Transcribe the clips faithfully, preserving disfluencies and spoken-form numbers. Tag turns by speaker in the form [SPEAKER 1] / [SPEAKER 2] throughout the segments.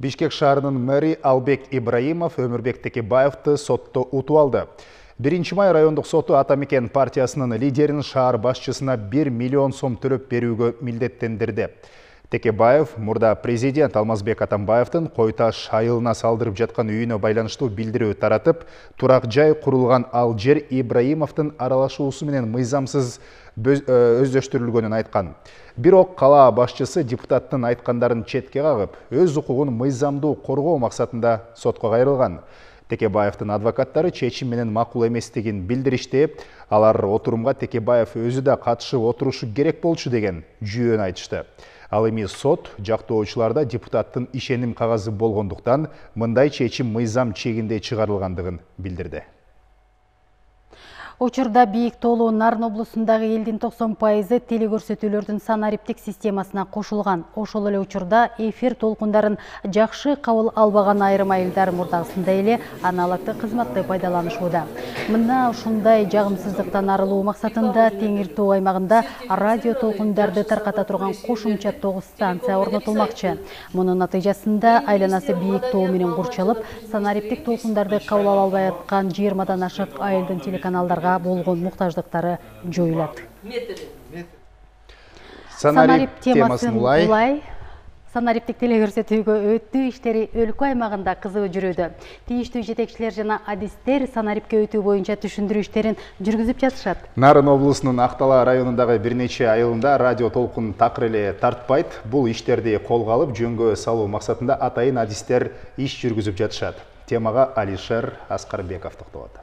[SPEAKER 1] Бишкек шаарынын мэри Албек Ибраимов Өмүрбек Текебаевди сотто утуп алды. биринчи май райондук соту Атамекен партиясынын лидерин шаар башчысына бир миллион сом төлөп берүүгө милдеттендирди. Текебаев мурда президент Алмазбек Атамбаевдин Кой Таш айылына салдырып жаткан үйүнө байланыштуу билдирүү таратып, турак жай курулган ал жер Ибраимовдун аралашуусу менен мыйзамсыз өздөштүрүлгөнүн айткан. Бирок кала башчысы депутаттын айткандарын четке кагып, өз укугун мыйзамдуу коргоо максатында сотко кайрылган. Текебаевдин адвокаттары чечим менен макул эместигин билдиришти. Алар отурумга Текебаев өзү да катышып отурушу керек болчу деген жүйөнү айтышты. Ал эми сот жактоочуларда депутаттын ишеним кагазы болгондуктан мындай чечим мыйзам чегинде чыгарылгандыгын билдирди.
[SPEAKER 2] Учурда Бийик Тоолуу Нарын облусундагы элдин токсон пайызы телекөрсөтүүлөрдүн санариптик системасына кошулган. Ошол эле учурда эфир толкундарын жакшы кабыл албаган айрым айылдар мурдагысындай эле аналогдук кызматты пайдаланышууда. Мына ушундай жагымсыздыктан арылуу максатында Теңир Тоо аймагында радио толкундарды тарката турган кошумча тогуз станция орнотулмакчы. Мунун натыйжасында айланасы Бийик Тоо менен курчалып, санариптик толкундарды кабыл ала албай аткан жыйырмадан ашык айылдын телеканалдарга болгон муктаждыктары жоюлат.
[SPEAKER 1] Санарип темасын улай.
[SPEAKER 2] Санариптик телекөрсөтүүгө өтүү иштери өлкө аймагында кызуу жүрүүдө. Тийиштүү жетекчилер жана адистер санарипке өтүү боюнча түшүндүрүү иштерин жүргүзүп жатышат.
[SPEAKER 1] Нарын облусунун Актала районундагы бир нече айылында радио толкун такыр эле тартпайт. Бул иштерди колго алып, жөнгө салуу максатында атайын адистер иш жүргүзүп жатышат. Темага Алишер Аскарбеков токтолот.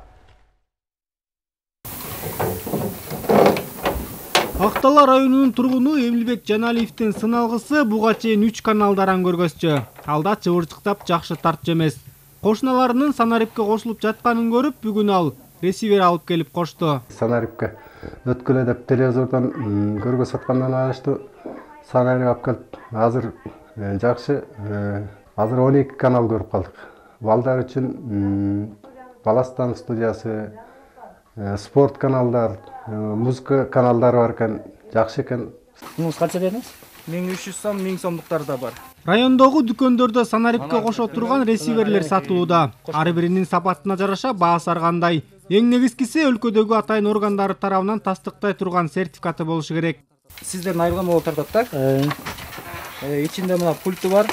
[SPEAKER 3] Актала районунун тургуну Эмилбек Жаналиевдин сыналгысы буга чейин үч каналдаран көргөзчү. Алда чыбырчыктап жакшы тартчу эмес. Кошуналарынын санарипке кошулуп жатканын көрүп, бүгүн ал ресивер алып келип кошту.
[SPEAKER 4] Санарипке өткөлө деп телевизордон көргөзүп аткандан алыштуу. Санарип алып келип, азыр жакшы, азыр он эки канал көрүп калдык. Балдар үчүн Баластан студиясы, спорт каналдар, музыка каналдары бар экен, жакшы экен.
[SPEAKER 5] Муз канча дедиңиз? миң үч жүз сом, миң сомдуктар да бар.
[SPEAKER 3] Райондогу дүкөндөрдө санарипке кошо турган ресиверлер сатылууда. Ар биринин сапатына жараша баасы ар кандай. Эң негизгиси өлкөдөгү атайын органдары тарабынан тастыктай турган сертификаты болушу керек.
[SPEAKER 5] Сиздердин айылга болуп тартат так? Ичинде мына пульты бар.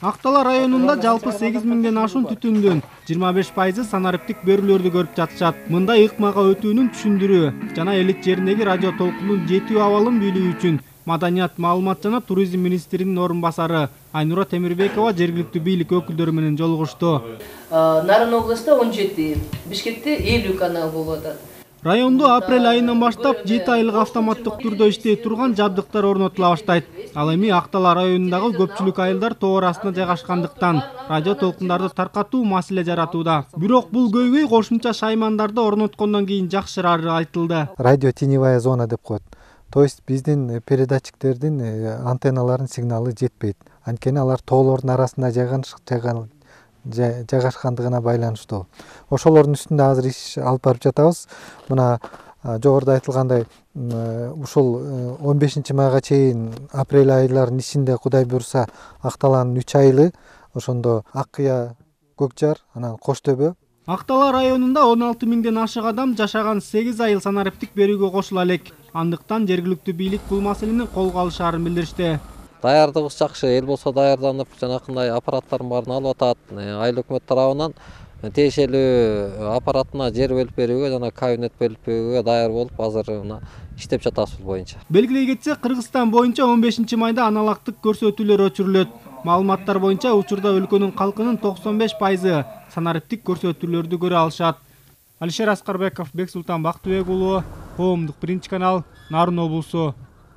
[SPEAKER 3] Актала районунда жалпы сегиз миңден ашуун түтүндүн жыйырма беш пайызы санариптик берүүлөрдү көрүп жатышат. Мындай ыкмага өтүүнүн түшүндүрүү жана элек жериндеги радио толкунун жетүү абалын билүү үчүн Маданият, маалымат жана туризм министринин орун басары Айнура Темирбекова жергиликтүү бийлик өкүлдөрү менен жолугушту.
[SPEAKER 6] Нарын областында он жети, Бишкекте элүү канал болуп атат.
[SPEAKER 3] Райондо апрель айынан баштап жети айлык автоматтык түрдө иштей турган жабдыктар орнотула баштайт. Ал эми Актала районундагы көпчүлүк айылдар тоо арасында жайгашкандыктан радио толкундарды таркатуу маселе жаратууда. Бирок бул көйгөй кошумча шаймандарды орноткондон кийин жакшырары айтылды.
[SPEAKER 7] Радио теневая зона деп коет. То есть биздин передатчиктердин антенналарынын сигналы жетпейт. Анткени алар тоолордун арасында жайгашкандыгына байланыштуу. Ошолордун үстүндө азыр иш алып барып жатабыз. Мына жогоруда айтылгандай, ушул он бешинчи майга чейин апрель айларынын ичинде Кудай буйруса Акталанын үч айылы, ошондо Аккыя, Көкжар, анан Кош Төбө.
[SPEAKER 3] Актала районунда он алты миңден ашык адам жашаган сегиз айыл санариптик берүүгө кошула элек. Андыктан жергиликтүү бийлик бул маселени колго алышаарын билдиришти.
[SPEAKER 8] Даярдыгыбыз жакшы, эл болсо даярданып, жанакындай аппараттардын баарын алып атат. Айыл өкмөт тарабынан тиешелүү аппаратына жер бөлүп берүүгө жана кабинет бөлүп берүүгө даяр болуп, азыр иштеп жатабыз бул боюнча.
[SPEAKER 3] Белгилей кетсе, Кыргызстан боюнча он бешинчи майда аналогдук көрсөтүүлөр өчүрүлөт. Маалыматтар боюнча учурда өлкөнүн калкынын токсон беш пайызы санариптик көрсөтүүлөрдү көрө алышат. Алишер Аскарбеков, Бексултан Бактыбек уулу, Коомдук биринчи канал, Нарын облусу.